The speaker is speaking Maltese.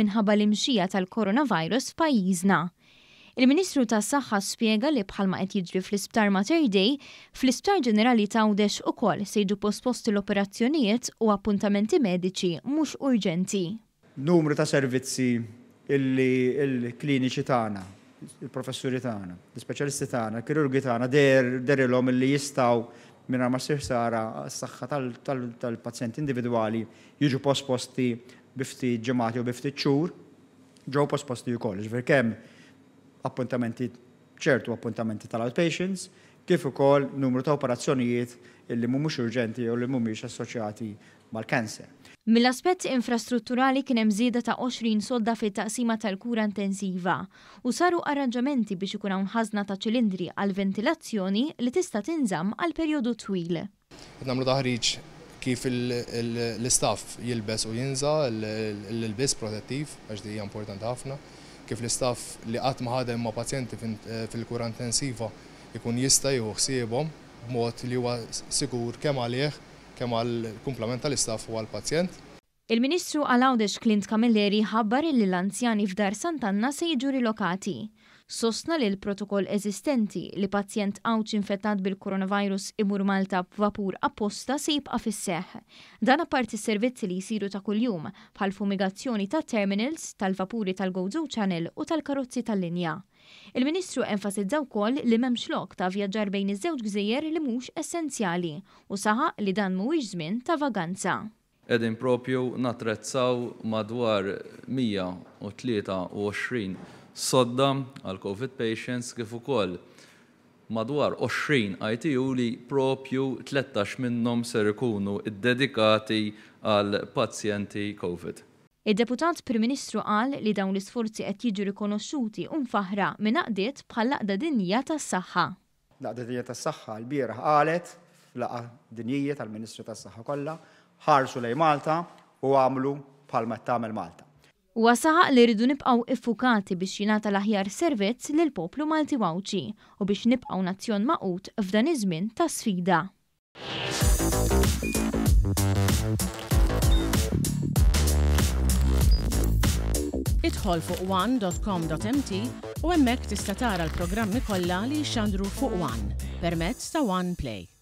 minħabba l-imxija tal-coronavirus f'pajjiżna. Il-Ministru tas-Saħħa spjega li bħalma qed jiġri fl-Isptar Mater Dei, fl-Isptar Ġenerali t'Għawdex ukoll se jiġu posposti l-operazzjonijiet u appuntamenti mediċi mhux urġenti. Numru ta' servizzi illi l-kliniċi tagħna, il-professuri tagħna, l-ispeċjalisti tagħna, il-kirurgi tagħna dehrilhom illi jistgħu mingħajr ma ssir ħsara għas-saħħa tal-pazjenti individwali jiġu posposti bi ftit ġimgħat jew bi ftit xhur. ġew posposti wkoll, jiġifieri kemm appuntamenti ċertu appuntamenti tal-outpatients kif ukoll numru ta' operazzjonijiet illi mhumiex urġenti jew li mhumiex assoċjati mal-cancer. Mill-aspett infrastrutturali kien hemm żieda ta' 20 sodda fit-taqsima tal-kura intensiva u saru arranġamenti biex ikun hawn ħażna ta' ċilindri għall-ventilazzjoni li tista' tinżamm għal perjodu twil. Qed nagħmlu taħriġ kif l-istaff jilbes u jinża' l-ilbies protettiv għax din hija importanti ħafna, kif l-istaff li qatt ma ħadem ma' pazjenti fil-kura intensiva jkun jista' jieħu ħsiebhom b'mod li huwa sigur kemm għalih, kemm għall-kumplament tal-istaff u għall-pazjent. Il-Ministru għal Għawdex Clint Camilleri ħabbar li l-anzjani f'Dar Sant'Anna se jiġu rilokati. Sostna li l-protokoll eżistenti li pazjent Għawdxi infettat bil-coronavirus imur Malta b'vapur apposta se jibqa' fis-seħħ. Dan apparti s-servizzi li jsiru ta' kuljum, bħall-fumigazzjoni tat-terminals, tal-vapuri tal-Gozo Channel u tal-karozzi tal-linja. Il-Ministru enfasizza wkoll li m'hemmx lok ta' vjaġġar bejn iż-żewġ gżejjer li mhux essenzjali u saħaq li dan mhuwiex żmien ta' vaganza. Qegħdin propju nattrezzaw madwar 123 sodda għal Covid patients kif ukoll madwar 20 ITU li propju 13 minnhom ser ikunu ddedikati għal pazjenti Covid. Id-Deputat Prim Ministru qal li dawn l-isforzi qed jiġu rikonoxxuti u mfaħħra minn għaqdiet bħall-Għaqda Dinjija tas-Saħħa. L-Għaqda Dinjija tas-Saħħa lbieraħ qalet f'laqgħa dinjija tal-Ministri tas-Saħħa kollha, ħarsu lejn Malta u agħmlu bħalma qed tagħmel Malta. Huwa saħaq li rridu nibqgħu iffukati biex jingħata l-aħjar servizz lill-poplu Malti u Għawdxi u biex nibqgħu nazzjon magħqud f'dan iż-żmien ta' sfida. Idħol fuq one.com.mt u hemmhekk tista' tara l-programmi kollha li jixxandru fuq One permezz ta' One Play.